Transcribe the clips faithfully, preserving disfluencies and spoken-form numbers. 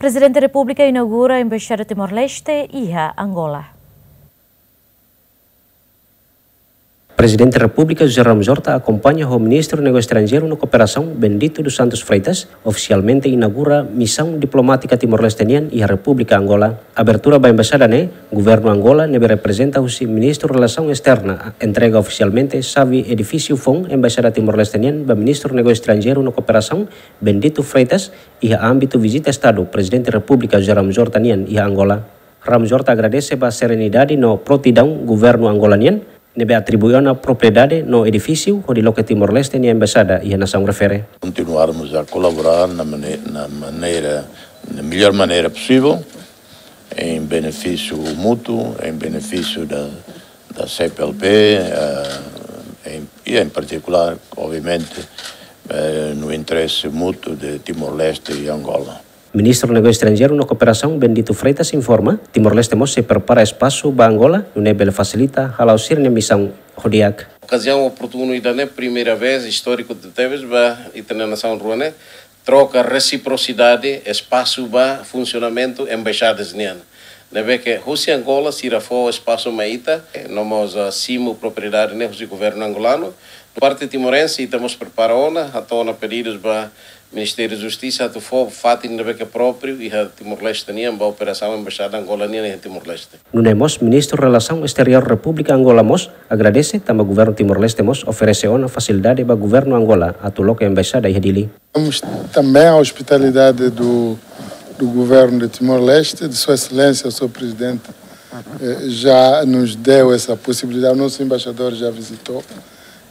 Prezidente Repúblika inaugura Embaixada Timor-Leste iha Angola. Prezidente Repúblika José Ramos Horta akompaña ho Ministru Negósiu Estranjeiru no Kooperasaun Bendito dos Santos Freitas ofisialmente inaugura misaun diplomátika Timor-Leste nian iha Repúblika Angola. Abertura ba embaixada ne'e, governu Angola ne'ebé reprezenta husi Ministru Relasaun Esterna entrega ofisialmente xave edifísiu foun Embaixada Timor-Leste nian ba Ministru Negósiu Estranjeiru no Kooperasaun Bendito Freitas iha ámbitu vizita Estadu Prezidente Repúblika José Ramos Horta nian iha Angola. Ramos Horta agradese ba serenidade no prontidaun governu Angola nian ne'ebé atribui ona propriedade no edifísiu hodi loke Timor-Leste nia embaixada iha nasaun refere. Continuarmos a colaborar na mane-, na maneira, na melhor maneira possível, em benefício mútuo, em benefício da, da C P L P, eh, em, e em particular, obviamente, eh, no interesse mútuo de Timor-Leste e Angola. Ministru Negósiu Estranjeiru no Kooperasaun Bendito Freitas informa, Timor-Leste mós sei prepara espasu ba Angola, nune'e bele fasilita hala'o sira-nia misaun ho di'ak. Okaziaun oportunu ida-ne'e, primeira vez, istóriku tebes ba ita-nia nasaun rua ne'e, troka resiprosidade espasu ba funsionamentu embaixadas nian. Ne'ebé ke husi Angola sira fó espasu mai ita, no mós, ah, simu propriedade ne'e husi governu angolanu. Parte timorense, ita mós prepara ona, hato'o ona pedidus ba Ministériu Justisa atu fó fatin ne'ebé ke própriu iha Timor-Leste nian ba operasaun embaixada Angola nian iha Timor-Leste. Nune'e mós Ministru Relasaun Esteriór Repúblika Angola mós agradese tanba governu Timor-Leste mós oferese ona fasilidade ba governu Angola atu loke embaixada iha Dili. Temos também a hospitalidade do, do governo de Timor-Leste, de Sua Excelência, o senhor Presidente, eh, já nos deu essa possibilidade, o nosso embaixador já visitou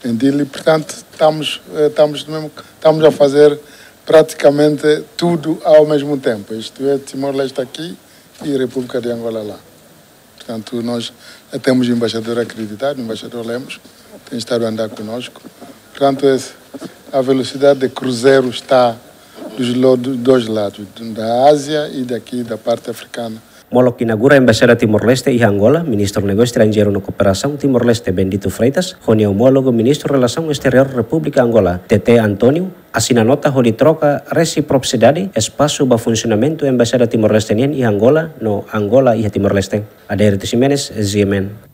em Dili, portanto, estamos, eh, estamos mesmo, estamos a fazer praticamente tudo ao mesmo tempo. Isto é, Timor-Leste aqui e República de Angola lá. Portanto, nós já temos embaixador acreditado, o embaixador Lemos tem estado a andar conosco. Portanto, esse, a velocidade de cruzeiro está dos lo-, dos dois lados, da Ásia e daqui da parte africana. Molok inaugura Embaixada Timor-Leste iha Angola, Ministru Negósiu Estranjeiru no Kooperasaun Timor-Leste Bendito Freitas, ho nia omólogu Ministru Relasaun Esteriór Repúblika Angola, T T António, asina nota hodi troka resiprosidade espasu ba funsionamentu Embaixada Timor-Leste nian iha Angola no Angola iha Timor-Leste. Adérito Ximenes, G M N.